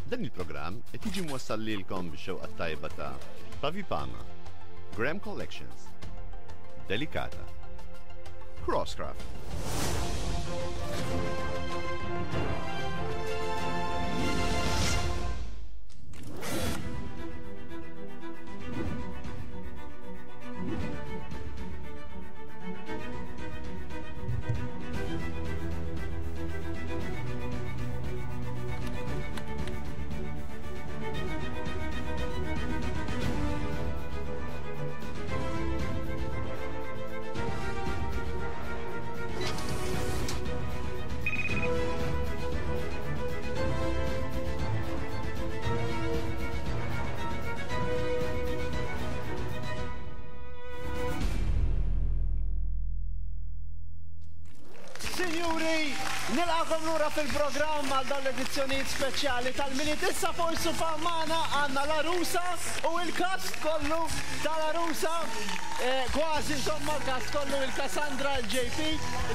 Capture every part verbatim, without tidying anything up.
Dan il-programm qed jiġi mwassal lilkom bix-xewqa tajba ta' Pavi Pama, Graham Collections, Delicata, Crosscraft. Signori, nilqakom lura fil-programm għal dawn l-edizzjonijiet speċjali tal-Milied. Issa fuq is-sofa magħna għandna l-Arusa u l-cast kollu tal-Arusa. Eh, kważi insomma l-cast kollu, il-Cassandra, il-J P,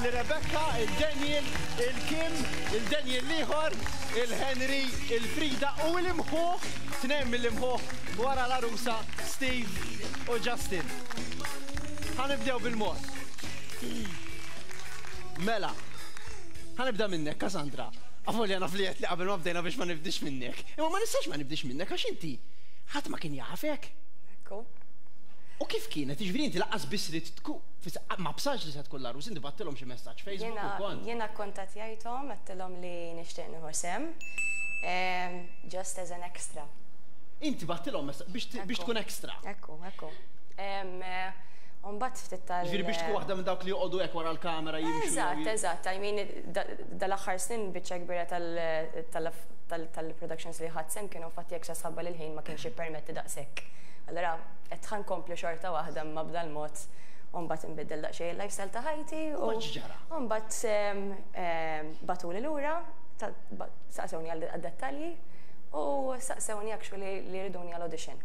il-Rebecca, il-Daniel, il-Kim, il-Daniel l-ieħor, il-Henry, il-Frida u l-imħuħ, tnejn mill-imħuħ wara l-Arusa, Steve u Justin. Ħa nibdew bil-mod. Mela, ħa nibda minnek, Cassandra. Avolja naf li li qabel ma bdejna biex ma nibdix minnek. Imma ma nistax ma nibdix minnek għax inti ħadd ma kien jafek. Ekku. U kif kienet? Jiġifieri inti lanqas biss li tkun ma bsarx li se tkun l-għarus, inti bgħattilhom xi messaġġ Facebook u kont. Jiena kontattjajthom, għedtilhom li nixtieq nieħu sehem. Just as an extra. Inti bgħattilhom messaġġ biex tkun extra. Ekku, ekku. Umbagħad ftit tal. Ġifieri biex tkun waħda minn dawk li joqogħdu hekk wara l-kamera jimxu. Eżatt, eżatt. I mean, dal-aħħar snin biċċa kbira tal-productions li ħadt sehem kienu fatti extra sabba li l-ħin ma kienx jippermetti daqshekk. Allora, qed ħa nkompli xorta waħda ma b'dal-mod u mbagħad inbiddel daqsxejn il-lifestyle ta' ħajti. U x'ġara? U mbagħad bagħtuli lura, saqsewni għad-dettalji u saqsewni actually li jriduni għal-audition.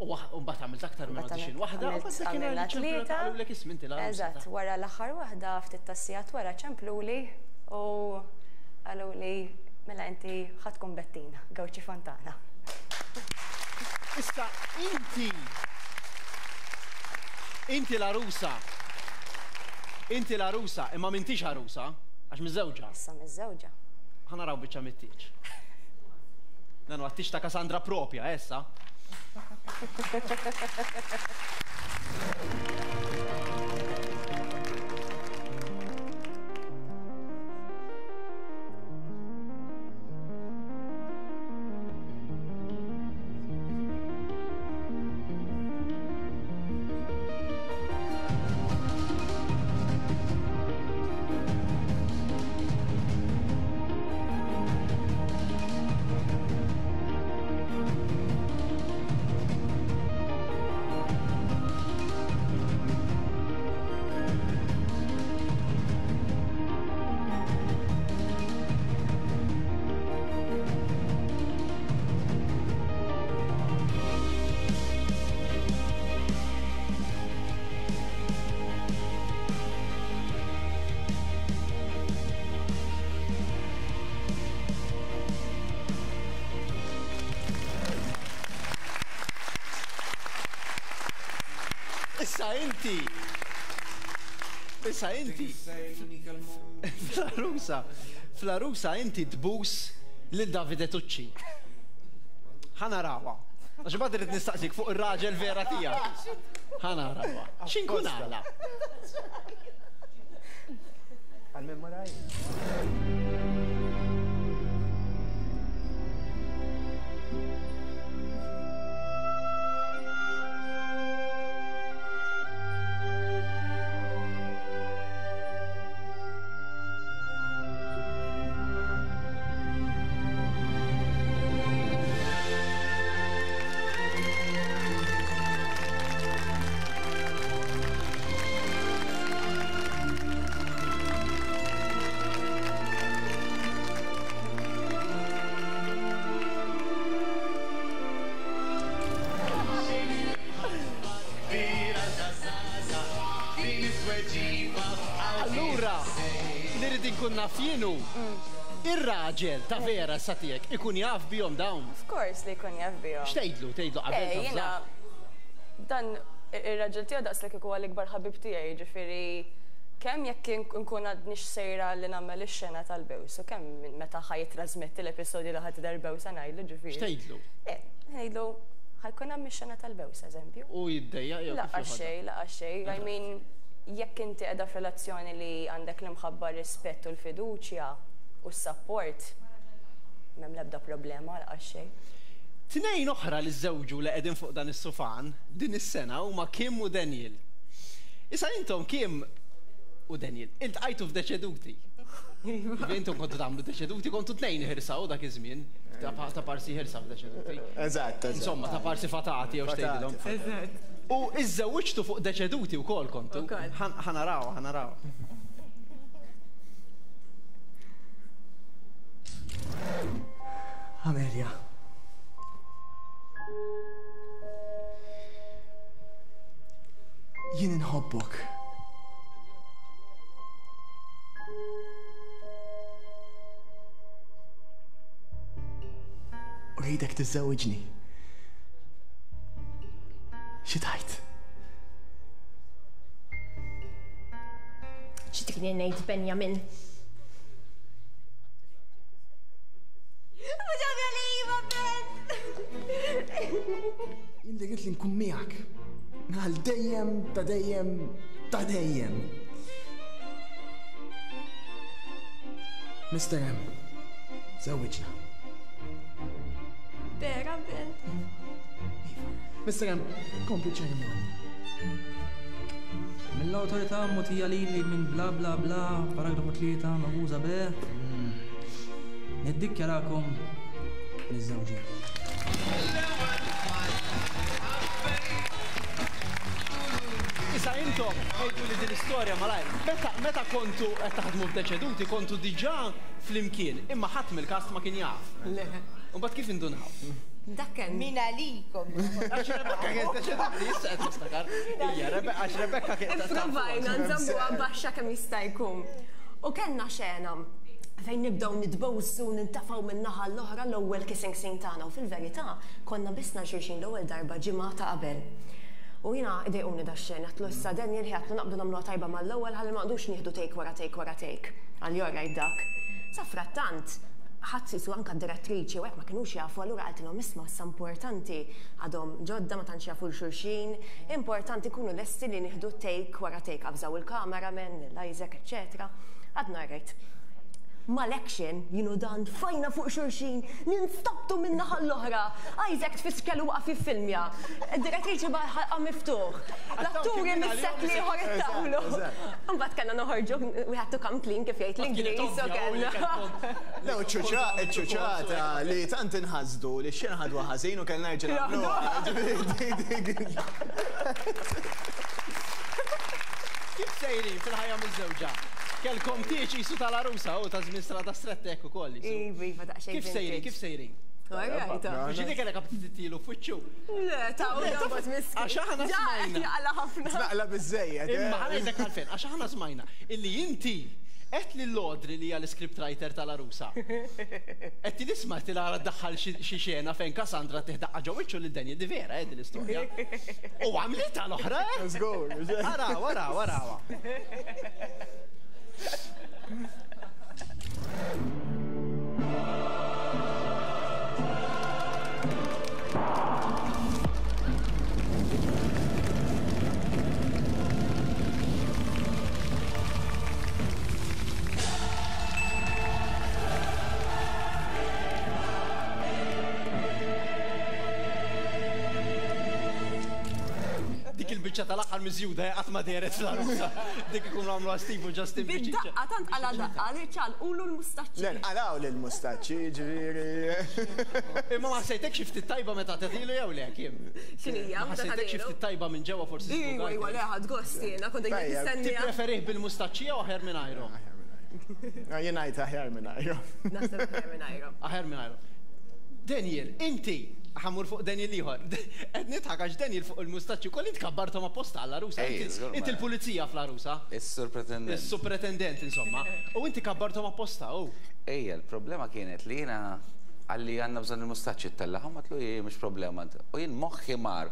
U mbagħad għamilt aktar minn audition waħda, u mbagħad għamilna tlieta. Qalulek ismi inti l-għarusa. Eżatt, wara l-aħħar waħda, ftit tas-sigħat wara, ċempluli u qaluli mela inti ħa tkun Bettina Gawċi Fontana. Issa inti inti l-għarusa. Inti l-għarusa, imma m'intix għarusa, għax miżżewġa. Issa miżżewġa. Ħa naraw biċċa mit-tieġ. Dan huwa t-tieġ ta' Cassandra propja, issa. Issa inti. Issa inti. Fl-Arusa, fl-Arusa inti tbus lil Davide Tucci. Ħa narawha. Għax bad irrid nistaqsik fuq ir-raġel vera tiegħek. Ħa narawha. X'inkun għala? Għal-memoraj. Allura, li rrid inkun naf jienu. Ir-raġel ta' vera sa tiegħek ikun jaf bihom dawn? Of course li jkun jaf bihom. X'tgħidlu? Tgħidlu qabel ta' jiena dan ir-raġel tiegħu daqs li huwa l-ikbar ħabib tiegħi, jiġifieri kemm jekk nkun għadnix sejra li nagħmel ix-xena tal-bews, u kemm meta ħa jitrasmetti l-episodju li ħadd tidher bewsa ngħidlu ġifieri. X'tgħidlu? Ngħidlu ħa jkun hemm ix-xena tal-bews, eżempju. U jiddejjaq jew kif Laqas xejn, laqas xejn. I mean, jekk inti qiegħda f'relazzjoni li għandek l-imħabba, rispett u l-fiduċja u s-support, m'hemm l-ebda problema, laqas xejn. Tnejn oħra li żewġu li qegħdin fuq dan is-sufan din is-sena huma Kim u Daniel. Issa intom Kim u Daniel, iltqajtu f'Deċeduti. Intom kontu tagħmlu Deċeduti, kontu tnejn ħirsaw dak iż-żmien, ta' parsi ħirsa f'Deċeduti. Eżatt, Insomma, ta' parsi fatati jew x'tgħidilhom. Eżatt. U iżżewwiġtu fuq Deċeduti wkoll kontu. Ħa naraw, ħa naraw. Amelia. Jien inħobbok. Uridak tiżżewġni. Xi tgħid? Xi tridni ngħid, Benjamin? Mhux ovvja li iva, Ben! Jien li li nkun miegħek. Għal dejjem ta' dejjem ta' dejjem. Mister M, żewwiġna. Vera, Ben. Iva. Mister M, kompli ċerimonja. Mill-awtorità mogħtija lili minn bla bla bla, paragrafu tlieta, magħmuża B. Niddikjarakom miżżewġin. Issa intom, għidu li din l-istorja malajr, meta, meta kontu qed taħdmu f'Deċeduti, kontu diġà flimkien, imma ħadd mill-kast ma kien jaf. Le. U mbagħad kif indunaw? Dak kemm. Min għalikom. Għax Rebecca kienet Deċeduti, issa qed niftakar. Ija, għax Rebecca kienet Ipprovajna nżammuha baxxa kemm jista' jkun. U kellna xena fejn nibdew nitbowsu, nintafgħu minn naħa l-oħra l-ewwel kissing scene tagħna u fil-verità konna bisna xulxin l-ewwel darba ġimgħa ta' qabel. U jiena idejquni da xena, għatlu issa Daniel ħi għatlu naqbdu nagħmluha tajba mal-ewwel ħalli ma nqdux nieħdu take wara take wara take. Għal jorajt dak. Sa frattant, ħadd qisu anke d-direttriċi u hekk ma kinux jafu, allura qaltilhom isma' issa importanti għadhom ġodda ma tantx jafu l-xulxin, importanti kunu lesti li nieħdu take wara take, avżaw il-cameraman, l-Isaac, eċċetera. Għadna rajt. Mal-action, jinu dan fajna fuq xulxin, ninstabtu minn naħa l-oħra. Isaac tfiskel u waqaf jiffilmja. Id-direttriċi ħalqa miftuħ. L-atturi mis-set li ieħor ittawlu. Mbagħad kellna noħorġu, we had to come clean kif jgħid l-Ingliż, u kellna. Le, ċuċata li tant inħasdu li xejn ħadwa ħażin u kellna jerġa' nagħmluha. Kif sejrin fil-ħajja miż-żewġa? Kelkom tieċ jisu tal-arusa u ta' żmien strada stretta hekk ukoll. Iva, iva, daqsxejn. Kif sejrin, kif sejrin? Biex dik kellek appetitilu f'wiċċu. Le, ta' u dabot miskin. Għax aħna smajna. Jaqla ħafna. Naqla biżejjed. Imma ħa ngħidlek għalfejn, għax aħna smajna illi inti qed lil Audrey li hija l-script writer tal-arusa. Qed tisma' tilara ddaħħal xi xena fejn Cassandra tiħdaqqa ġo wiċċu lil Daniel, di vera eh din l-istorja. U għamlitha l-oħra, eh? Żgur. Araw, araw, araw. Dik il-biċċa tal-aħħar miżjuda qatt ma dehret fl-arusa. Dik ikunu għamluha Steve u Justin biċċa. Bid-daqqa tant qala daqqa li ċalqulu l-mustaċċi. Le, nqalaw lill-mustaċċi, ġifieri. Imma ma ħassejtekx xi ftit tajba meta tagħtilu jew le, Kim? X'inhija? Ma ħassejtekx xi ftit tajba minn ġewwa forsi Iwa, iwa, le, ħadd gost jiena, kont qed nistennija. Tippreferih bil-mustaċċi jew aħjar minn ajru? Jien ngħid aħjar minn ajru. Naħseb aħjar minn ajru. Aħjar minn ajru. Daniel, inti ħamur fuq Daniel ieħor. Qed nidħak għax Daniel fuq il-mustaċċi wkoll int kabbarthom apposta għall-arusa. Inti l-pulizija fl-arusa. Is-surpretendent. Is-supretendent, insomma. U inti kabbarthom apposta, u. Ejja, il-problema kienet li jiena għalli għandna bżonn il-mustaċċi ttellagħhom, għatlu hi mhux problema. U jien moħħi mar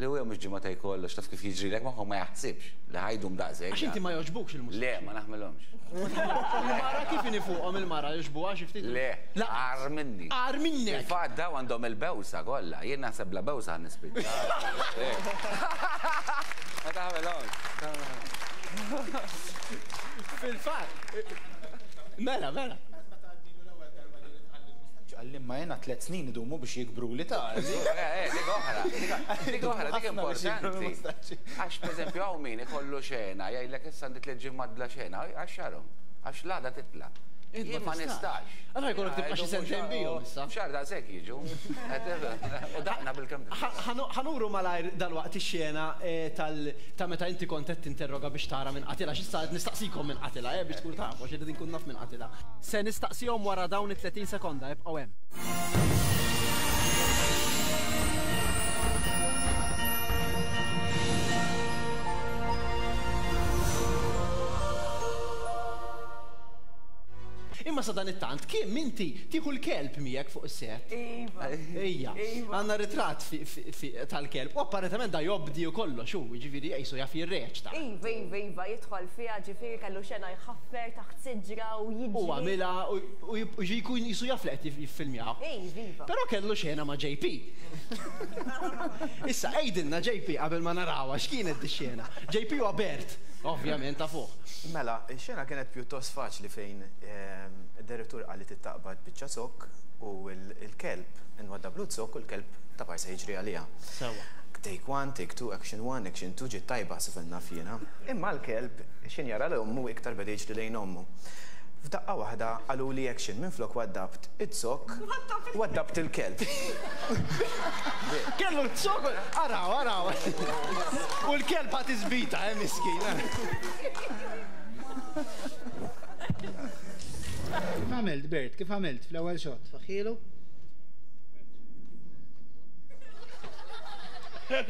li huwa mhux ġimgħa kollox, taf kif jiġrilek moħħu ma jaħsibx li ħajdum daqshekk. Għax inti ma jogħġbukx il-mustaċċi. Le, ma naħmilhomx. Il-mara kif inhi fuqhom il-mara jogħġbuha xi ftit? Le, agħar minni. Agħar minnek. Fil-fatt daw għandhom il-bewsa kollha, jien naħseb la bewsa ħa nispiċċa. Ma taħmilhomx. Fil-fatt. Mela, mela. Għallim ma jena tlet snin idumu biex jikbru li ta' Dik oħra, dik oħra, dik importanti. Għax, per eżempju, hawn min ikollu xena, jgħidlek issa għandi tliet ġimgħat bla xena, għax xarhom, għax l-għada titla'. Jien ma nistax. Allora jkollok tibqa' xi sentejn bihom issa. Xahar daqshekk jiġu. U daqna bil-kemm. Ħa nuru malajr dalwaqt ix-xena ta' meta inti kont qed tinterroga biex tara minn qatilha, x'issa qed nistaqsikom minn qatilha, eh biex tkun tafu għax irrid inkun naf minn qatilha. Se nistaqsihom wara dawn it-tletin sekonda, ibqgħu hemm. Imma sa dan it-tant, kim inti tieħu l-kelb miegħek fuq is-set? Iva. Ejja. Għandna ritratt tal-kelb. U apparentement da jobdi u kollox, hu, jiġifieri qisu jaf jirreċta. Iva, iva, iva, jidħol fiha, ġifieri kellu xena jħaffer taħt siġra u jiġri. U għamilha u jkun qisu jaf li qed jiffilmjaw. Iva, iva. Però kellu xena ma' J P. Issa għidilna J P qabel ma narawha x'kienet di xena. J P huwa Bert, ovvjament ta' fuq. Mela, ix-xena kienet pjuttost faċli fejn id-direttur qal li tittaqbad biċċa zokk u l-kelb inwaddablu zokk u l-kelb ta' parsa jiġri għaliha. Sewa. Take one, take two, action one, action two, ġiet tajba sifenna fjena. Imma l-kelb xin jara l-ommu iktar beda jiġri lejn ommu. F'daqqa waħda qalu li action minflok waddabt iz-zokk, waddabt il-kelb. Kellu z-zokk, araw, araw. U l-kelb ħadd iżbita, eh, miskin. Kif għamilt, Bert? Kif għamilt fl-ewwel xot? Faħilu?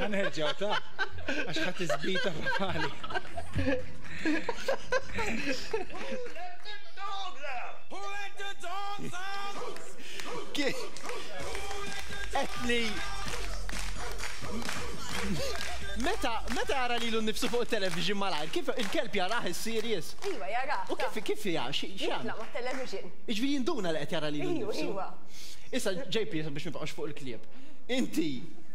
Ħanerġgħu ta' għax ħadd iżbita f'ħali. Etli Meta meta jara lilu nnifsu fuq it-television malajr, kif il-kelb jarah is-serious? Iva, jarah. U kif kif hija? Jitla' mat-television. Jiġifieri jinduna li qed jara lilu nnifsu. Iva. Issa J P biex nibqgħux fuq il-klieb. Inti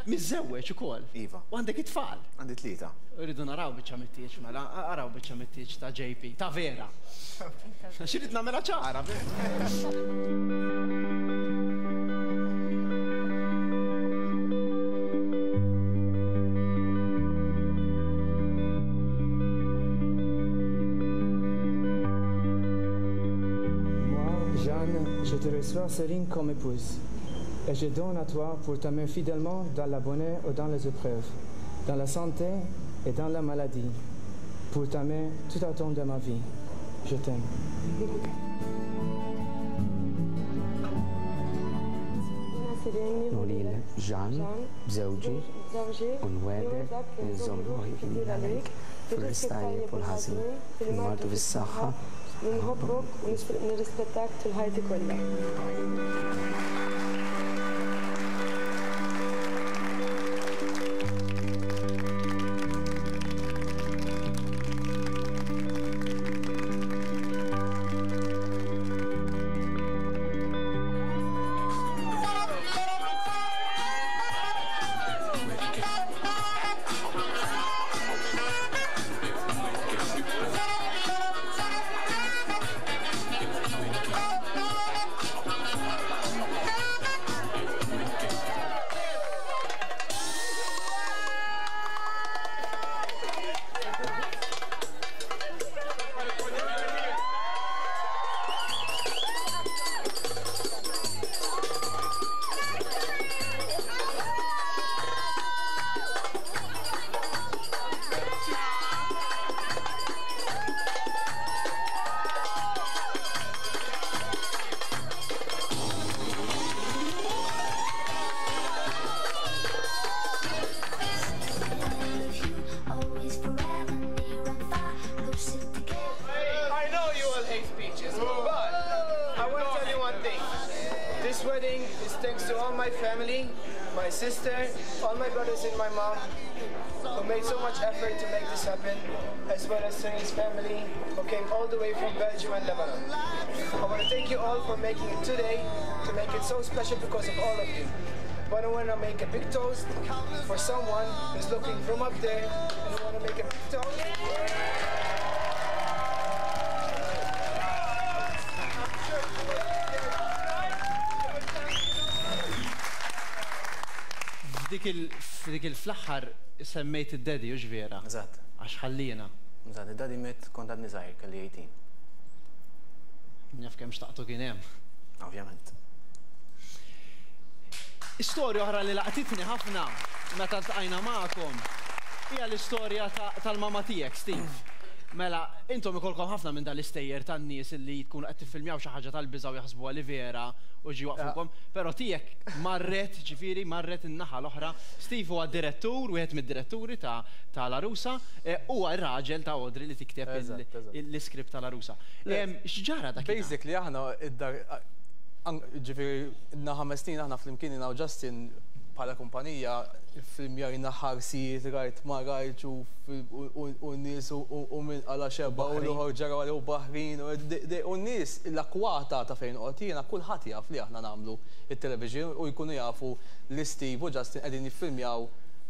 miżżewweġ ukoll. Iva. U għandek it-tfal. Għandi tlieta. Irridu naraw biċċa mit-tieġ mela, araw biċċa mit-tieġ ta' J P, ta' vera. Għax irid nagħmilha ċara. Jeanne, je te reçois Céline comme épouse et je donne à toi pour t'aimer fidèlement dans la bonheur ou dans les épreuves, dans la santé et dans la maladie, pour t'aimer tout au long de ma vie. Je t'aime. Nolilek Jeanne, b'żewġi, u nwegħdek li nżomm ruħi fidila lejk fil-risq tajjeb u l-ħażin, fil-mard u fis-saħħa. Nħobbok u nirrispettak tul ħajti kollha. This wedding is thanks to all my family, my sister, all my brothers and my mom, who made so much effort to make this happen, as well as Cerine's family, who came all the way from Belgium and Lebanon. I want to thank you all for making it today, to make it so special because of all of you. But I want to make a big toast for someone who's looking from up there, and I want to make a big toast. F'dik il-fl-aħħar semmejt id-daddy, hux vera? Eżatt. Għax ħallina. Eżatt, id-daddy miet kont għadni żgħir, kelli eighteen. Naf kemm xtaqtu kien hemm. Ovvjament. Istorja oħra li laqtitni ħafna meta ltqajna magħkom hija l-istorja tal-mama tiegħek, Steve. Mela, intom ikolkom ħafna minn dal-istejjer tan-nies li tkunu qed tiffilmjaw xi ħaġa tal-biża' u jaħsbuha li vera u ġi waqfukom, però tiegħek marret, ġifieri marret in-naħa l-oħra. Steve huwa direttur, wieħed mid-diretturi ta' L-Għarusa, huwa r-raġel ta' Audrey li tikteb l-iskript tal-Għarusa. X'ġara dak? Basically aħna id-dar, ġifieri na ħames snin aħna flimkien jiena u Justin bħala kumpanija filmjajna ħarsijiet, rajt ma rajtx u n-nies u minn għala xebba u l-oħor ġara u baħrin u n-nies l-akwata ta' fejn qgħod jiena kulħadd jaf li aħna nagħmlu it-television u jkunu jafu li Steve u Justin qegħdin jiffilmjaw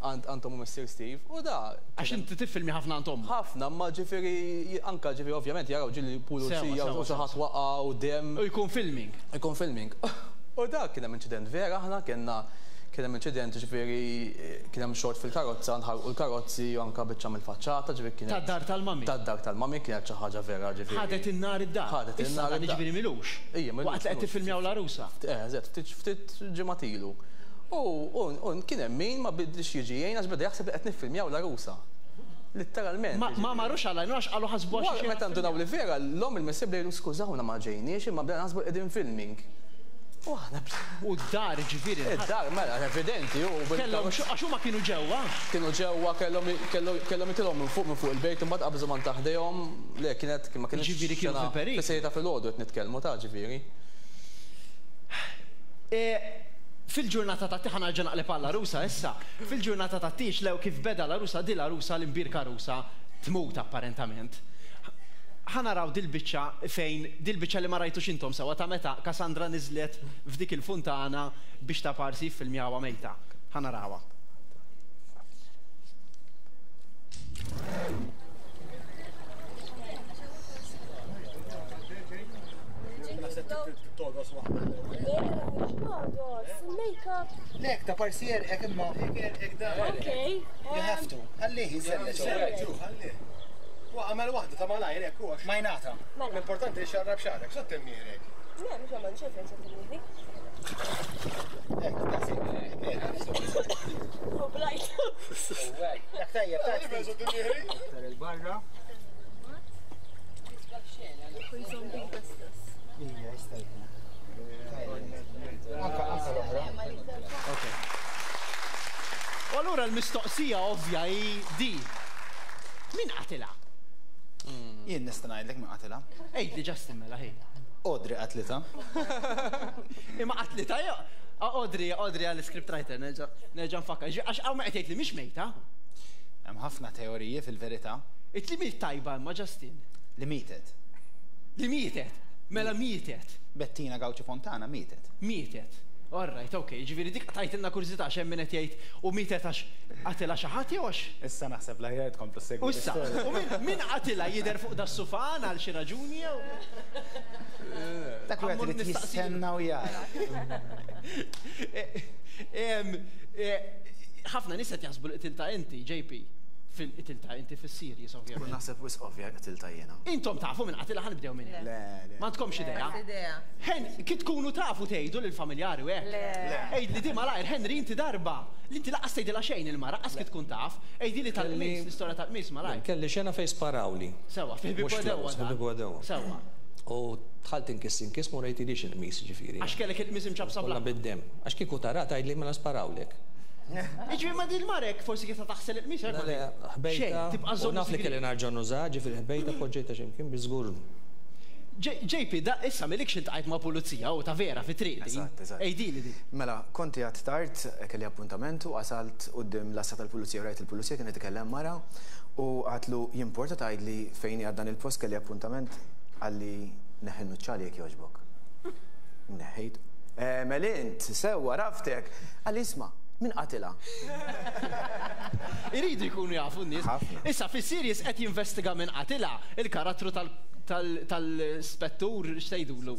għand ommu missier Steve u da. Għax inti tiffilmi ħafna għand ommu? Ħafna, ma ġifieri anka ġifieri ovvjament jaraw ġieli pulizija u xi ħadd waqa' u demm. U jkun filming. Jkun filming. U da kien hemm inċident vera aħna kellna kien hemm inċident ġifieri kien hemm xort fil-karozza, nħarqu l-karozzi u anke biċċa mill-faċċata ġifieri kienet. Tad-dar tal-mami. Tad-dar tal-mami kienet xi ħaġa vera ġifieri. Ħadet in-nar id-dar. Ħadet in-nar id-dar. Ġifieri milux. Ejja, milux. Waqt li qed tiffilmjaw l-għarusa. Eh, eżatt, ftit ftit ġimgħat ilu. U kien hemm min ma bidlix jiġi jgħin għax beda jaħseb li qed niffilmjaw l-għarusa. Litteralment. Ma marrux għal għax qalu ħasbu għax. Meta ndunaw li vera, l-omm il-missier bdejlu skużawna ma ġejniex imma bdejna naħsbu qegħdin filming. U d-dar ġifieri. Id-dar, mela, evidenti. Kellhom, għax huma kienu ġewwa. Kienu ġewwa, kellhom jitilgħu minn fuq minn fuq il-bejt, imbagħad qabżu man taħdejhom, le kienet ma kienx. Ġifieri kienu fil-periklu. Fis-sejta filgħodu qed nitkellmu ta' ġifieri. Fil-ġurnata ta' tieħ nerġa' naqleb għall-għarusa issa. Fil-ġurnata ta' tiex lew kif beda l-għarusa, di l-għarusa l-imbierka għarusa tmut apparentament. Ħa naraw dil-biċċa fejn dil-biċċa li ma rajtux intom sewa ta' meta Cassandra niżlet f'dik il-funtana biex ta' parsi ffilmjawha mejta. Ħa narawha. Lek ta' parsi jerqek imma. Okay. You have to. Ħallih jiżellek. Ħallih. Għamel waħda ta' malajr hekk huwa majnata. L-importanti li xarrab xarek, sott immirek. Le, mhux għamel xejn fejn sott immirek. Hekk, daqshekk. U blajt. Dak tajjeb, tajjeb. Aktar il-barra. Ija, jista' jkun. Anka anka l-oħra. Okay. U allura l-mistoqsija ovvja hi di. Min qatilha? Jien nista' ngħidlek min qatilha. Għidli Justin mela ħej. Audrey qatlitha. Imma qatlitha jew Audrey, Audrey għall-script writer nerġa' nerġa' nfakkar. Għax hawn ma qed jgħid li mhix mejta. Hemm ħafna teoriji fil-verità. It li miet tajba imma Justin. Li mietet. Li mietet. Mela mietet. Bettina Gauci Fontana mietet. Mietet. All right, ok, ġifieri dik tajtilna kurżità għax hemm min qed jgħid u mietet għax qatilha xi ħadd jew għax. Issa naħseb l-aħjar tkomplu ssegwu. U issa, u min qatilha jidher fuq das-sufan għal xi raġuni jew? Dak wieħed irid jistenna u jara. Ħafna nies qed jaħsbu li qtilta inti, J P. Fil-qtilta inti fis-series ovvjament. Naħseb wisq ovvja qtilta jiena. Intom tafu minn qatilha ħa nibdew minn hekk. Le, le. Ma għandkomx idea? Hen, kif tkunu tafu tgħidu lill-familjari u hekk. Le. Għidli di malajr, Henry inti darba. Li inti laqas tgħidilha xejn il-mara, qas kif tkun taf. Għidili tal-qmis, l-istorja tal-qmis malajr. Kelli xena fejn sparawli. Sewa, fi ħbieb għadewa. Fi ħbieb għadewa. Sewa. U dħalt inkiss inkiss ma rejtilix il-qmis ġifieri. Għax kellek il-qmis imċabsa bla. Kollha bid-demm. Għax kieku tara tgħidli mela sparawlek. Iġifieri ma din marek forsi kif taħsel il-qmis hekk. Le, ħbejta. U naf li kelli nerġa' nuża, ġifieri ħbejta poġġejta x'imkien bi żgur. J P, da issa milikx iltqajt ma' pulizija u ta' vera fi triq din. Eżatt, eżatt. Ejdili di. Mela, konti għad tard, kelli appuntamentu, wasalt quddiem l-għassa tal-pulizija u rajt il-pulizija kien ikellem mara u għedtlu jimporta tgħidli fejn għad dan il-post, kelli appuntament. Qalli neħħi n-nuċċali jekk jogħġbok. Neħħejt. Melint, sewwa, għaraftek. Qalli isma', min qatilha? Iridu jkunu jafu n-nies. Issa fis-series qed jinvestiga minn qatilha il-karattru tal-spettur, x'tgħidulu?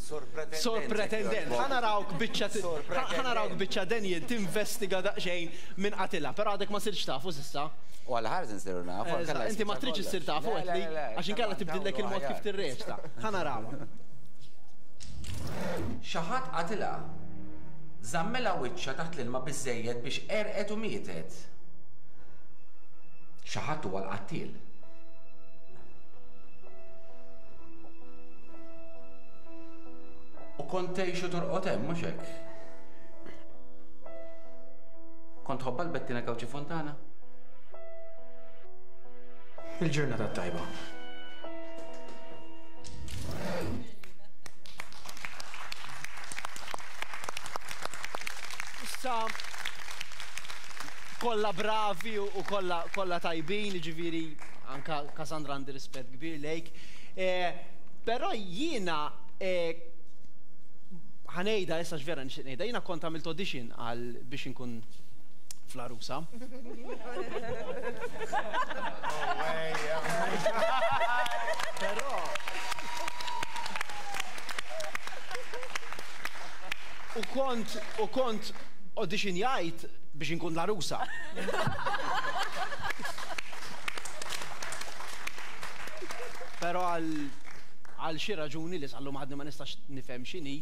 Sorpretendent. Ħa narawk biċċa ħa narawk biċċa Daniel tinvestiga daqsxejn minn qatilha, però għadek ma sirx tafu s'issa. U għal ħarż nsiru nafu. Inti ma tridx issir tafu għedli, għax inkella tibdillek il-mod kif tirreċta. Ħa narawha. Xi ħadd qatilha. Żammilha wiċċha taħt l-ilma biżejjed biex għerqet u mietet. Xi ħadd huwa l-qattil. U kont tgħix u torqod hemm, mhux hekk? Kont tħobbha l-Bettina Gauci Fontana? Il-ġurnata tajba. Issa kollha bravi u kollha kollha tajbin, ġifieri anka Cassandra għandi rispett kbir lejk. Però jiena ħa ngħidha issa x'vera nixtieq ngħidha, jiena kont għamilt audition għal biex inkun fl-Għarusa. Però u kont u kont auditionjajt biex inkun l-għarusa. Però għal għal xi raġuni li sal-lum għadni ma nistax nifhem x'inhi,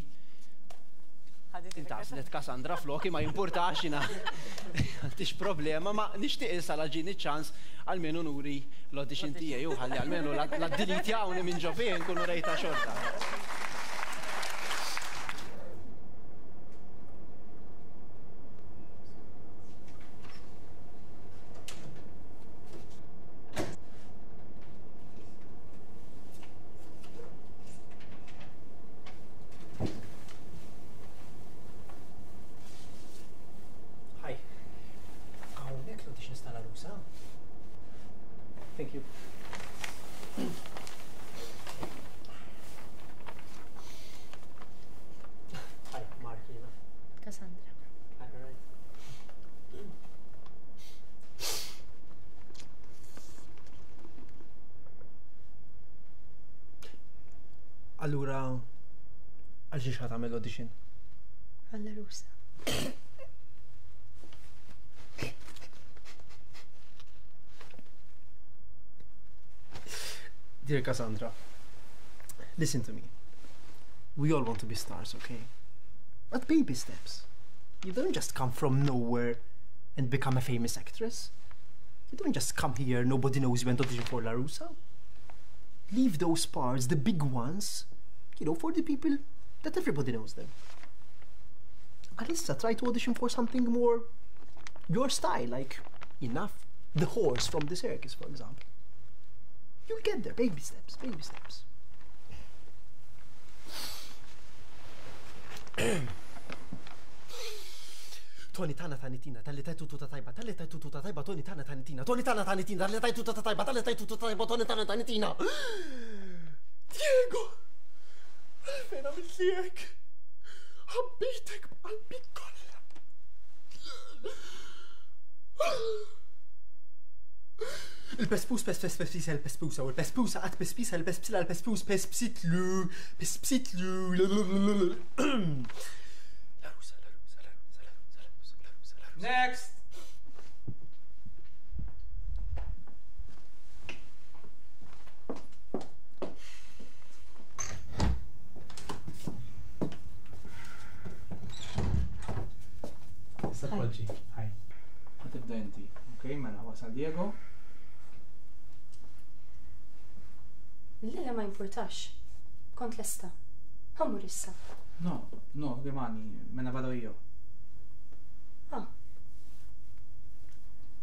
intgħażlet Cassandra floki. Ma jimpurtax, jiena m'għandix problema, ma nixtieq issa la ġieni ċans almenu nuri l-audition tiegħi u ħalli almenu la ddelitjawni minn ġo fih nkunu rejta xorta. Hi. Hawnhekk l-auditions tal-Għarusa? Thank you. Hi, Mark, jiena. Cassandra. Hi, all right. Allura, għal xiex ħa tagħmel audition? Għall-Għarusa. Dear Cassandra, listen to me. We all want to be stars, okay? But baby steps. You don't just come from nowhere and become a famous actress. You don't just come here, nobody knows you, and audition for L-Għarusa. Leave those parts, the big ones, you know, for the people that everybody knows them. Għalissa, try to audition for something more your style, like Enough, the horse from the circus, for example. You'll get there, baby steps, baby steps. Tony tana tanitina, talli tajtu tuta tajba, talli tajtu tuta tajba, Tony tana tanitina, Tony tana tanitina, talli tajtu tuta tajba, talli tajtu tuta tajba, Tony tana tanitina. Diego! Għalfejn għamilt li hekk? Ħabbejtek b'qalbi kollha. Il-pespus pes pes pespisa il-pespusa u l-pespusa għat pespisa il-pespsila il-pespus pespsitlu pespsitlu. L-Għarusa, l-Għarusa, l-Għarusa, l-Għarusa, l-Għarusa, l-Għarusa. Next! Issa poġġi, hi. Ħa tibda inti, ok? Mela wasal Diego. Le, ma jimpurtax. Kont lesta. Ħa mmur issa. No, no, rimani, me ne vado io. Ah.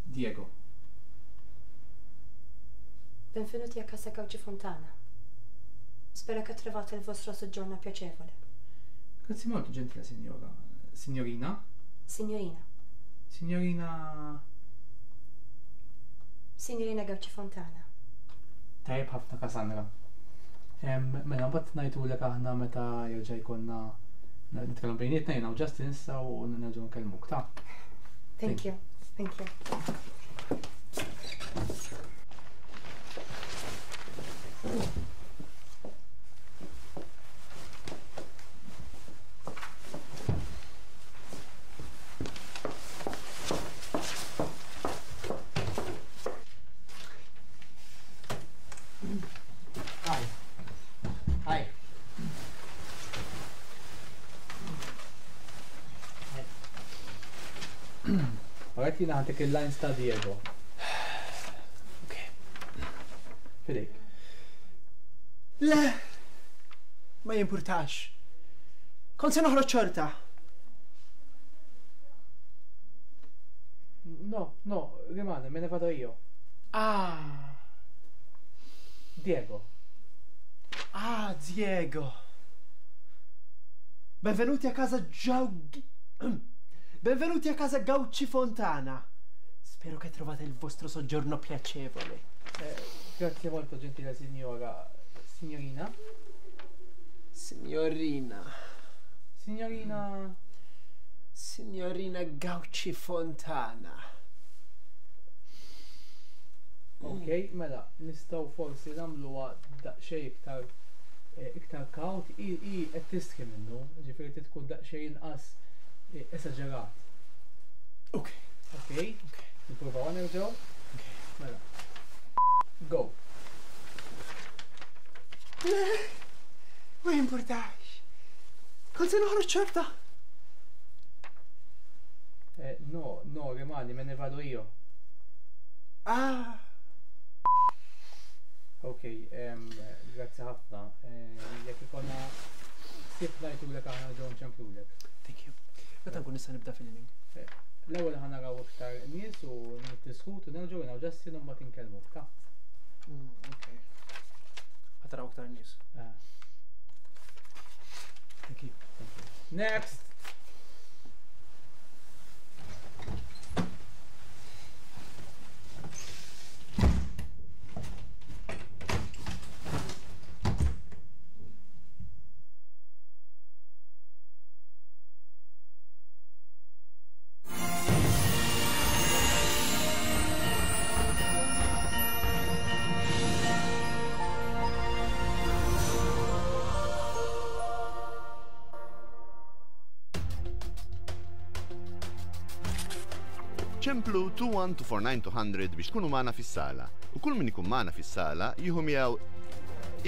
Diego. Benvenuti a Casa Cauci Fontana. Spero che trovate il vostro soggiorno piacevole. Grazie molto, gentile signora. Signorina? Signorina. Signorina... Signorina Gauci Fontana. Tajjeb ħafna Cassandra. Mela mbagħad ngħidulek aħna meta jerġa' jkollna nitkellmu bejnietna jiena u Justin issa u nerġgħu nkellmuk, ta'. Thank you. Thank you. Hi. Hi. Alright, jiena ħa ntik il-lines ta' Diego. Ok. Fidejk. Le, ma jimpurtax. Kont se noħroġ xorta. No, no, rimane, me ne vado io. Ah. Diego. Ah, Diego. Benvenuti a casa Giau... Benvenuti a casa Gauci Fontana. Spero che trovate il vostro soggiorno piacevole. Eh, grazie molto, gentile signora. Signorina? Signorina. Signorina... Signorina Gauci Fontana. Ok, mela, nistgħu forsi nagħmluha daqsxejn iktar eh, iktar kawt, i i qed tistħi minnu, ġifieri trid tkun daqsxejn inqas eh, esaġerat. Ok. Ok? Ok. Nippruvaw nerġgħu? Ok. Mela. Go. Le, ma jimpurtax. Kont se noħroġ xorta. Eh, no, no, rimani, me ne vado io. Ah. Ok, um, grazzi ħafna. Eh, Jekk ikollna ħsieb ngħidulek aħna ġew nċemplulek. Thank you. Meta nkun nista' nibda filming? Eh, L-ewwel ħa naraw iktar nies u niddiskutu nerġgħu jiena u Justin u mbagħad inkellmuk, ta'. Mm, ok. Ħa taraw iktar nies. Eh. Thank you. Thank you. Next! Ċemplu two one two four nine two hundred biex tkunu magħna fis-sala. U kull min ikun magħna fis-sala jieħu miegħu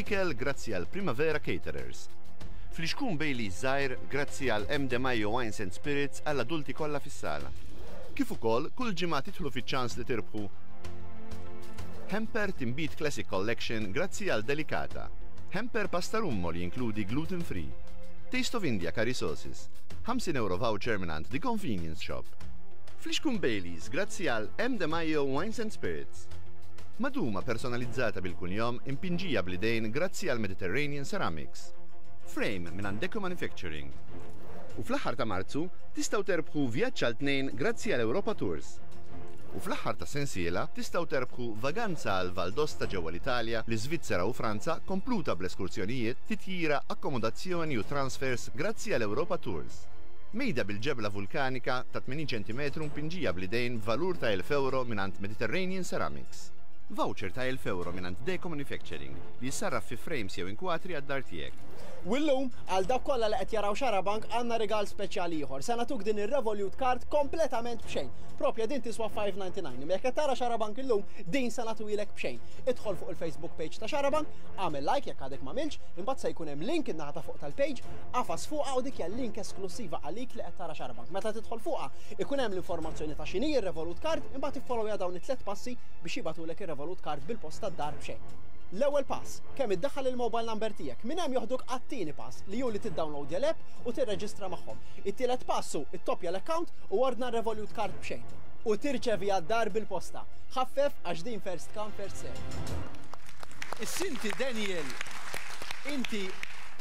ikel grazzi għal Primavera Caterers. Flixkun Baileys żgħir grazzi għal M. De Maio Wines and Spirits għall adulti kollha fis-sala. Kif ukoll kull ġimgħa titħlu fiċ-ċans li tirbħu Hamper Timbit Classic Collection grazzi għal Delicata. Hamper Pasta Rummo li jinkludi gluten free. Taste of India Curry Sauces. ħamsin euro voucher mingħand The Convenience Shop. Flixkun Baileys grazzi għal M. De Maio Wines and Spirits. Maduma personalizzata bil-kunjom impinġija bl-idejn grazzi għal Mediterranean Ceramics. Frame minn Deco Manufacturing. U fl-aħħar ta' Marzu tistgħu terbħu vjaġġ għal tnejn grazzi għal Europa Tours. U fl-aħħar ta' sensiela tistgħu terbħu vaganza għal Valdosta ġewwa l-Italja, l-Iżvizzera u Franza kompluta bl-eskursjonijiet, titjira, akkomodazzjoni u transfers grazzi għal Europa Tours. Mejda bil-ġebla vulkanika ta' tmenin ċentimetru mpinġija bl-idejn b'valur ta' elf euro mingħand Mediterranean Ceramics. Voucher ta' elf euro mingħand Deco Manufacturing li jissarraf fi frames jew inkwatri għad-dar tiegħek. U llum, għal dawk kollha li qed jaraw Xarabank għandna rigal speċjali ieħor. Se nagħtuk din ir-Revolut Card kompletament b'xejn. Propja din tiswa five ninety-nine. Imma jekk qed tara Xarabank illum, din se nagħtuhilek b'xejn. Idħol fuq il-Facebook page ta' Xarabank, agħmel like jekk għadek m'għamilx, imbagħad se jkun hemm link in-naħa ta' fuq tal-page, qafas fuqha u dik hija link esklusiva għalik li qed tara Xarabank. Meta tidħol fuqha, ikun hemm l-informazzjoni ta' x'inhi r-Revolut Card, imbagħad iffollowja dawn it-tliet passi biex jibgħatulek ir-Revolut Card bil-posta d-dar b'xejn. L-ewwel pass, kemm iddaħħal il-mobile number tiegħek, minn hemm joħduk għat-tieni pass li hu li tiddownloadja l-app u tirreġistra magħhom. It-tielet pass hu ittoppja l-account u ordna Revolut Card b'xejn. U tirċevi għad-dar bil-posta. Ħaffef għax din first come first serve. Is-Sinti Daniel inti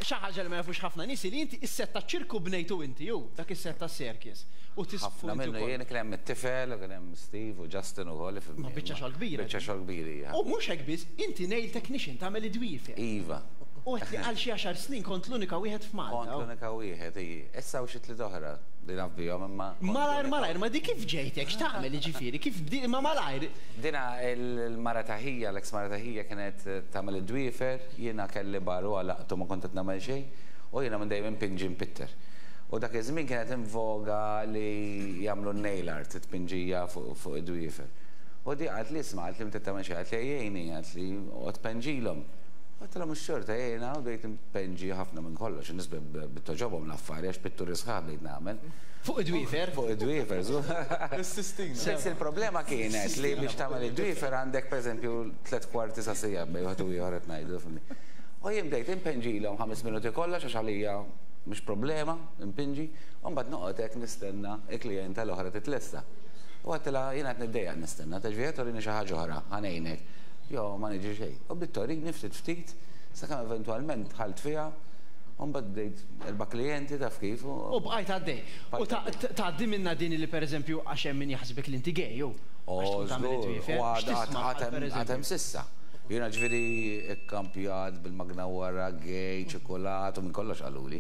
xi ħaġa li ma jafux ħafna nies li inti is-set taċ-ċirku bnejtu inti ju, dak is-set tas-circus. U tisfu Ħafna minnu jien kien hemm it-tifel, u kien hemm Steve u Justin ukoll. Ma biċċa xogħol kbira. Biċċa xogħol kbira hija. U mhux hekk biss, inti nail technician tagħmel id-dwiefer. Iva. U għedt li għal xi għaxar snin kont l-unika wieħed f'Malta. Kont l-unika wieħed, iji. Issa u xi tliet oħra li naf bihom imma. Malajr, malajr, ma di kif ġejtek, x'tagħmel jiġifieri, kif bdi, ma malajr. Dina il-mara ta' ħija, l-eks mara ta' ħija kienet tagħmel id-dwiefer, jiena kelli bar u għalaqtu ma kont qed nagħmel xejn, u jiena minn dejjem impinġi mpitter. U dak iż-żmien kienet in voga li jagħmlu nail art, it-tpinġija fuq id-dwiefer. U di qalt li isma' qalt li meta tagħmel xejn, qalt li ejjejni, qalt li oqgħod penġilhom. Għedtilha mhux xorta jiena u bdejt impenġi ħafna minn kollox, in-nies bit-toġobhom l-affari għax pitturi sħaħ bdejt nagħmel. Fuq id-dwiefer? Fuq id-dwiefer, żgur. Is-Sistina. Biss il-problema kienet li biex tagħmel id-dwiefer għandek pereżempju tliet kwarti sa siegħa bejn wieħed u ieħor qed ngħidu, fhimni. U jien bdejt impenġilhom ħames minuti kollox għax għalija mhux problema, impinġi, u mbagħad noqgħod hekk nistenna il-klijenta l-oħra titlesta. U għedtilha jiena qed niddejjaq nistenna, taġvija torini xi ħaġa oħra, ħa ngħinek. Jo, ma niġi xejn. U bdiet torini ftit ftit, sakemm eventwalment dħalt fiha, u mbagħad bdejt erba' klijenti taf kif. U bqajt għaddej. U tgħaddi minna din li pereżempju għax hemm min jaħsbek li inti gay, jew? Oh, żgur. U għad hemm s'issa. Jiena ġifieri kkampjat bil-magna wara, gay, ċokolat u minn kollox qaluli.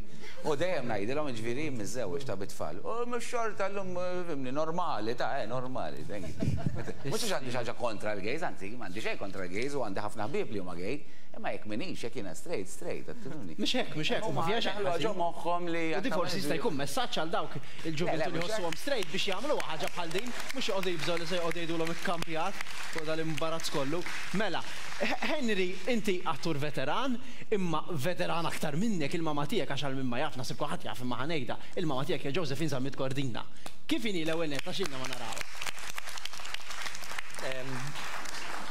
U dejjem ngħidilhom ġifieri miżżewweġ ta' bit-tfal. U mhux xorta llum fimni normali, ta' eh normali, thank you. Mhux għax għandi xi ħaġa kontra l-gays, anzi m'għandi xejn kontra l-gays u għandi ħafna ħbieb li huma gay, imma jekk m'iniex, jekk jiena straight, straight, qed tifhimni. Mhux hekk, mhux hekk, ma fiha xejn. Ħaġa moħħhom li. U di forsi jista' jkun messaġġ għal dawk il-ġuvintu li jħossuhom straight biex jagħmlu ħaġa bħal din, mhux joqogħdu jibżgħu li se joqogħdu jgħidulhom ikkampjat fuq dal-imbarazz kollu. Mela, Henry, inti attur veteran, imma veteran aktar minnek il-mama tiegħek għax għal min ma jaf, naħseb kulħadd jaf imma ħa ngħidha, il-mama tiegħek hija Josephine Zammit Cordina. Kif inhi l-ewwel nett għax ilna ma narawha?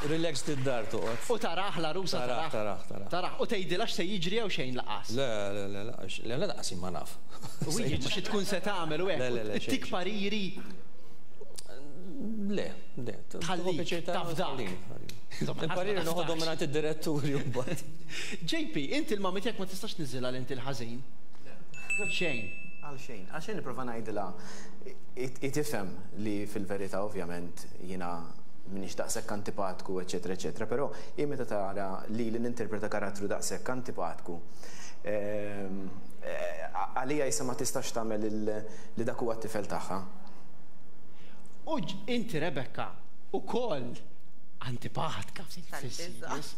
Relaxed id-dar toqgħod. U taraħ l-għarusa taraħ. Taraħ, taraħ. Taraħ, u tgħidilha x'se jiġri jew xejn laqas. Le, le, le, le, le, laqas ma naf. U hija xi tkun se tagħmel u hekk. Tik pariri. Le, le. Tħallik, taf dak. Il-pariri noħodhom mingħand id-diretturi mbagħad. J P, inti l-mami tiegħek ma tistax tniżilha li inti l-ħażin. Xejn. Għal xejn, għal xejn nipprova ngħidilha tifhem li fil-verità ovvjament jiena minix daqshekk antipatku, eċetera, eċetera, però hi meta tara li li ninterpreta karattru daqshekk antipatku, għalija issa ma tistax tagħmel li dak huwa t-tifel tagħha. U inti Rebecca ukoll antipatka fis-series.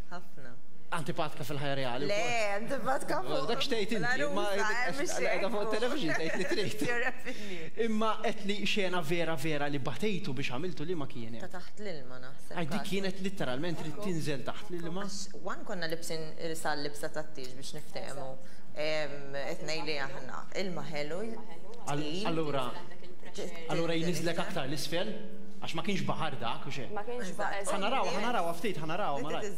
Ħafna. Antipatka fil-ħajja reali. Le, antipatka fuq. Dak xtejt inti, ma qiegħda fuq television tgħid li trid. Imma qed li xena vera vera li batejtu biex għamiltu li ma kienet. Ta' taħt l-ilma naħseb. Għax dik kienet litteralment trid tinżel taħt l-ilma. Wan konna libsin sal libsa tat-tieġ biex niftehmu. Qed ngħidli aħna ilma ħelu. Allura, allura jniżlek aktar l-isfel? Għax ma kienx baħar dak u xejn. Ma kienx baħar. Ħa naraw, ħa naraw ftit, ħa naraw malajr.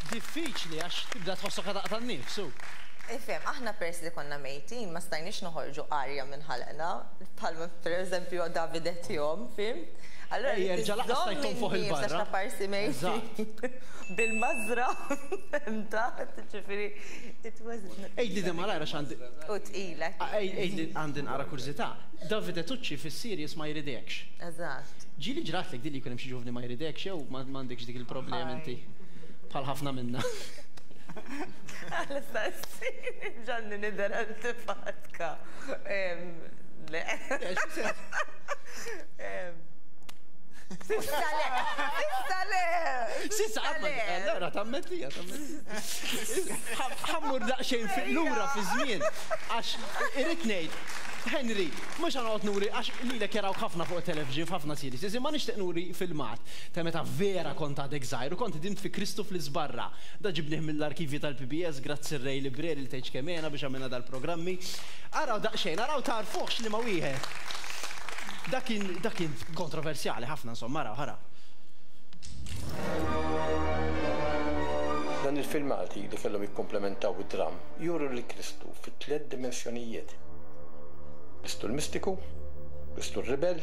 Diffiċli għax tibda tħossok taqta' n-nifs. Ifhem, aħna peress li konna mejtin ma stajniex noħorġu arja minn ħalqna, bħalma pereżempju David Etjom, fim? Allura jerġa' laqas stajt fuq il-barra. Parsi mejtin. Bil-mażra hemm taħt, ġifieri it was. Għidli di malajr għax għandi. U tqila. Għidli għandi nqara kurżità. Davide Tucci fis-series ma jridekx. Eżatt. Ġieli ġratlek din li jkun hemm xi ġuvni ma jridekx jew m'għandekx dik il-problema inti bħal ħafna minna. Għala sassini, ġanni nidher antipatka. Le. Sissa le, sissa le. Sissa għatma, allora tammettija, tammettija. Ħammur daqsxejn lura fi żmien, għax irrid ngħid, Henry, mhux ħanoqgħod nuri għax lilek jarawk ħafna fuq television f'ħafna series, imma nixtieq nuri filmat ta' meta vera kont għadek żgħir u kont dimt fi Kristu fl-Iżbarra. Da ġibnih mill-arkivji tal-P B S, grazzi r-Ray Libreri li tgħidx kemm għena biex għamilna dal-programmi. Araw daqsxejn, araw tarfuħx li ma wieħed. Dak kien dak kien kontroversjali ħafna insomma, araw, araw. Dan il-filmati li kellhom jikkomplementaw id-dram juru lil Kristu fi tliet dimensjonijiet. Kristu l-mistiku, Kristu r-ribel,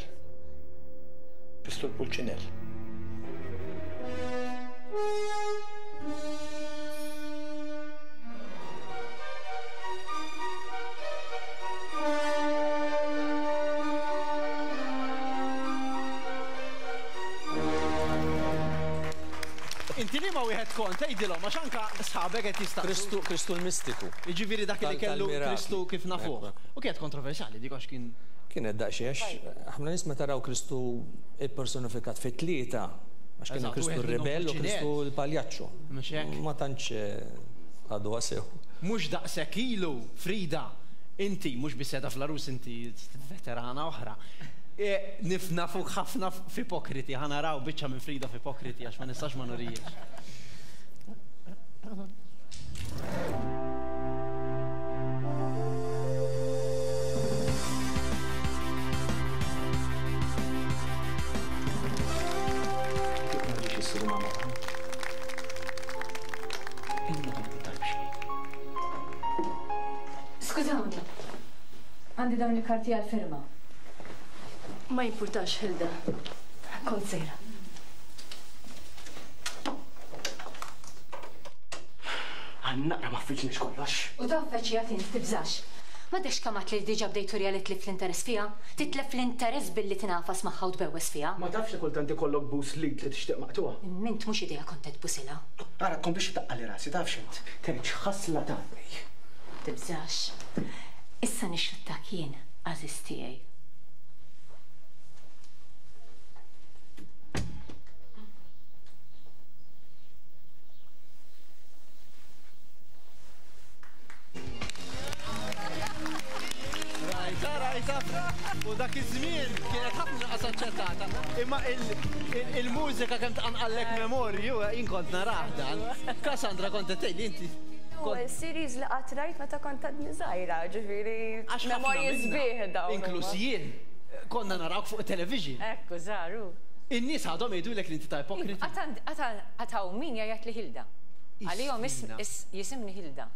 Kristu l-pulċinell. Inti li ma wieħed kont tgħidilhom għax anke sħabek qed jistaqsu. Kristu Kristu l-mistiku. Jiġifieri dak li kellu Kristu kif nafuh. U kienet kontroversjali dik għax kien kienet daqsxejn għax ħafna nies meta raw Kristu ippersonifikat fi tlieta għax kien Kristu r-rebell u Kristu l-paljaċċu. Ma tantx għadu sew. Mhux daqshekk ilu, Frida, inti mhux biss qiegħda fl-Għarus, inti veterana oħra. Nifna fuq ħafna f'ipokriti, ħa naraw biċċa minn Frida f'ipokriti għax ma nistax ma nurijiex. Skużawni, għandi dawn il-karti għal-firma. Ma jimpurtax, Hilda. Kont sejra. Għannaqra ma ffiċniex kollox. U taf feċi int tibżax. Ma dekx kamat li diġa bdejt turja li tlif l-interess fija? Titlef l-interess billi tinafas magħha u tbewwes fija? Ma tafx li kultant ikollok bus lid li tixtieq maqtuha. Mint mhux idea kont qed tbusilha. Ara tkomplix taqqali rasi, tafx int. Terġ ħasla tgħaddi. Tibżax. Issa nixxuttak jien, għażiż tiegħi. U dak iż-żmien kienet ħafna inqas aċċettata. Imma il-mużika kemm tqanqallek memorju, jien kont narah dan. Cassandra kont qed tgħidli inti. Ewwel series li qatt rajt meta kont għadni żgħira, ġifieri memorji sbieħ dawn. Inkluż jien konna narawk fuq television. Ekku, żaru. In-nies għadhom jgħidulek li inti ta' ipokriti. Qatt hawn min jgħid li Hilda. Għalihom jisimni Hilda.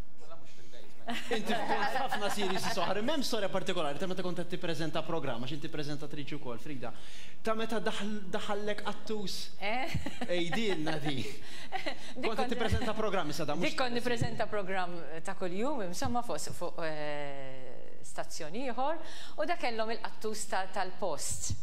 Inti kont ħafna series soħar, m'hemm storja partikolari ta' meta kont qed tippreżenta programm, għax inti preżentatriċi wkoll, Frida. Ta' meta daħallek qattus. Ejdilna di. Kont qed tippreżenta programm issa da mhux. Dik kont nippreżenta programm ta' kuljum, insomma fuq stazzjon ieħor, u da kellhom il-qattus tal-post.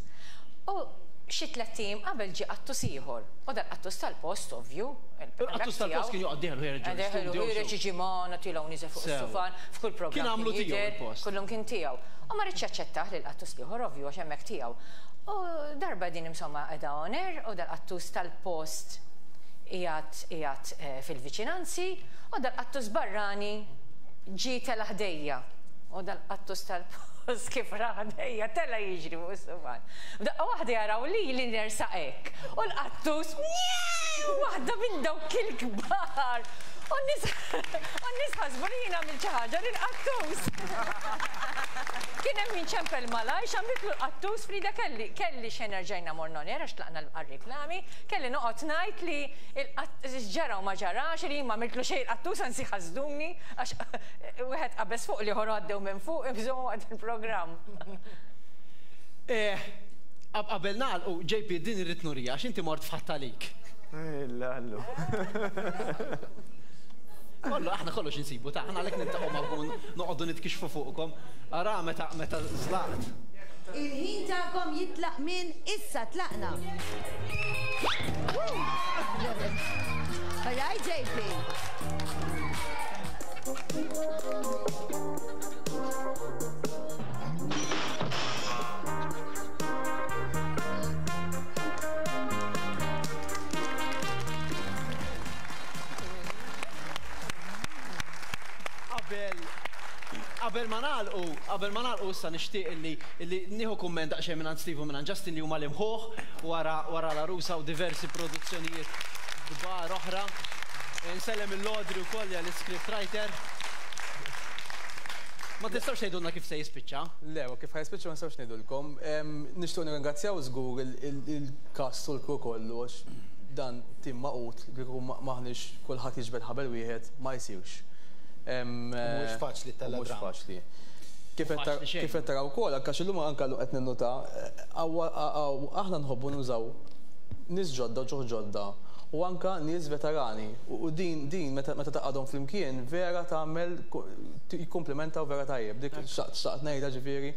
U xi tliet ijiem qabel ġie qattus ieħor. U dal-qattus tal-post, ovvju. Il-qattus tal-post kien joqgħod dieħel u jerġa' l-istudio. Jerġa' jiġi magħna tilgħu nieżel fuq is-sufan, f'kull programm. Kien għamlu tiegħu il-post. Kullum kien tiegħu. U ma ridx jaċċettah lil qattus l-ieħor, ovvju, għax hemmhekk tiegħu. U darba din insomma qiegħda on air u dal-qattus tal-post qiegħed qiegħed fil-viċinanzi u dal-qattus barrani ġie tela' ħdejja. U dal-qattus tal-post kif ra ħdejja tela' jiġri fuq is-sufan. Daqqa waħda jaraw li li nersaq hekk. U l-qattus waħda minn dawk il-kbar. U n-nies ħasbu li jien għamilt xi ħaġa lill-qattus. Kien hemm min ċempel malajr x'għamiltlu l-qattus Frida kelli kelli xejn erġajna morna on air għax tlaqna għar-reklami, kelli noqgħod ngħid li ġara u ma ġarax li jien ma għamiltlu xejn il-qattus anzi ħasduni għax wieħed qabeż fuq l-ieħor għaddew minn fuq ibżgħu waqt il-programm. Qabel nagħlqu J P din irrid nurija għax inti mort f'ħadd għalik. Illa Kollu, aħna kollox insibu, ta' aħna għalhekk niltaqgħu magħkom noqogħdu nitkixfu fuqkom. Ara meta meta żlaqt. Il-ħin tagħkom jitlaq minn issa tlaqna. All right, J P. Qabel ma nagħlqu, qabel ma nagħlqu issa nixtieq illi illi nieħu kumment daqsxejn minn Steve u minn Justin li huma l-imħuħ wara wara l-Għarusa u diversi produzzjonijiet kbar oħra. Nsellem il-Lodri wkoll li script writer. Ma tistgħux tgħidulna kif se jispiċċa? Le, u kif ħa jispiċċa ma nistgħux ngħidulkom. Nixtieq nirringrazzjaw żgur il-cast u l-crew kollu għax dan tim magħqud li kieku maħniex kulħadd jiġbed ħabel wieħed ma jsirx. Mhuwiex faċli ttella' Mhux dram. faċli. Kif qed taraw ukoll, anke illum anke qed ninnota, aħna nħobbu nużaw nies ġodda, ġuħ ġodda, u anka nies veterani. U din din meta taqgħadhom flimkien vera tagħmel jikkumplementaw vera tajjeb. Dik xtaqt ngħidha ġifieri.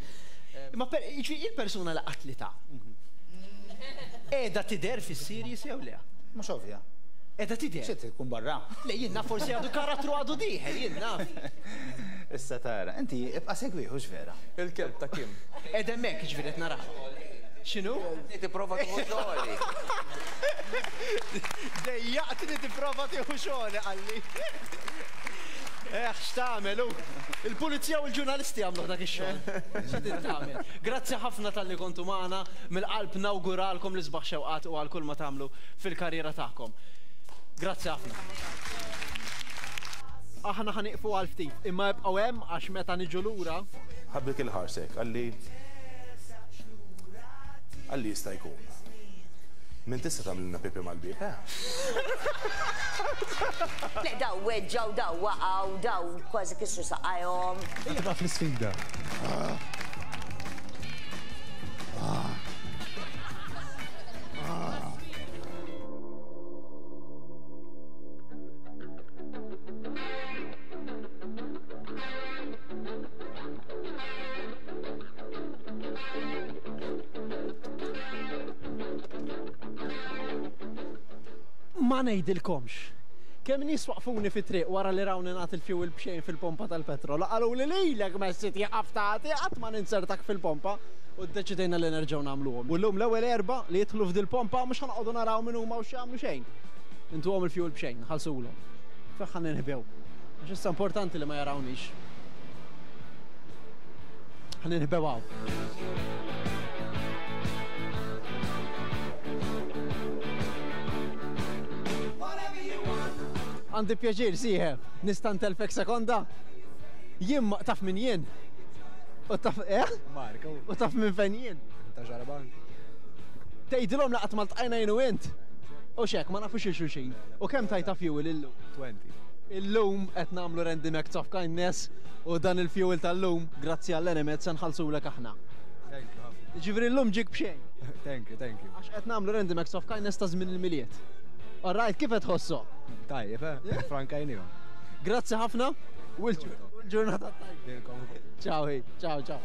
Ma il-persuna li qatlitha. Qiegħda tidher fis-series jew le? Mhux ovvja. Qiegħda tidher. Xi tkun barra? Le jien naf forsi għadu karattru għadu dieħel, jien naf. Issa tara, inti ibqa' segwih hux vera. Il-kelb ta' Kim. Qiegħda hemmhekk jiġifieri qed naraha. X'inhu? Tipprova tieħu xogħli. Dejjaqtni tipprova tieħu xogħli qalli. Eh, x'tagħmel hu? Il-pulizija u l-ġurnalisti għamlu dak ix-xogħol. Xi trid tagħmel? Grazzi ħafna talli kontu magħna, mill-qalb nawguralkom l-isbaħ xewqat u għal kull ma tagħmlu fil-karriera tagħkom. Grazzi ħafna. Aħna ħa nieqfu għal ftit, imma ibqgħu hemm għax meta niġu lura. Ħabbek il-ħarsek, qalli qalli jista' jkun. Min tista' tagħmlilna pipi mal-bieb, eh? Le, daw weġġaw, daw waqgħu, daw kważi kisru saqajhom. Tibqa' fl-isfida. Ma ngħidilkomx. Kemm nies waqfuni fit-triq wara li rawni nagħti il-fuel b'xejn fil-pompa tal-petrol. Qalu li lilek messi tieqaf tagħti qatt ma ninsertak fil-pompa u ddeċidejna li nerġgħu nagħmluhom. U llum l-ewwel erba' li jidħlu f'dil-pompa mhux ħa noqogħdu naraw min huma u x'jagħmlu xejn. Intuhom il-fuel b'xejn, ħallsulhom. Fejn ħa ninħbew. Għax issa importanti li ma jarawniex. Ħa ninħbew hawn. Għandi pjaċir, sieħeb, nista' ntelfek sekonda? Jien ma taf min jien. U taf, eh? Marko. U taf minn fejn jien. Ta' ġarban. Tgħidilhom laqat ma ltqajna jien u int. U xek, ma nafux il-xulxin. U kemm tajta fuel illum? twenty. Illum qed nagħmlu random acts of kindness u dan il-fuel tal-lum, grazzi għall-Enemed, se nħallsulek aħna. Thank you. Ġifieri llum ġik b'xejn. Thank you, thank you. Għax qed nagħmlu random acts of kindness ta' żmien il-Milied. All right, kif qed tħossok? Tajjeb, eh? Frankajnihom. Grazzi ħafna u l-ġurnata tajba. Ciao, hey. Ciao, ciao.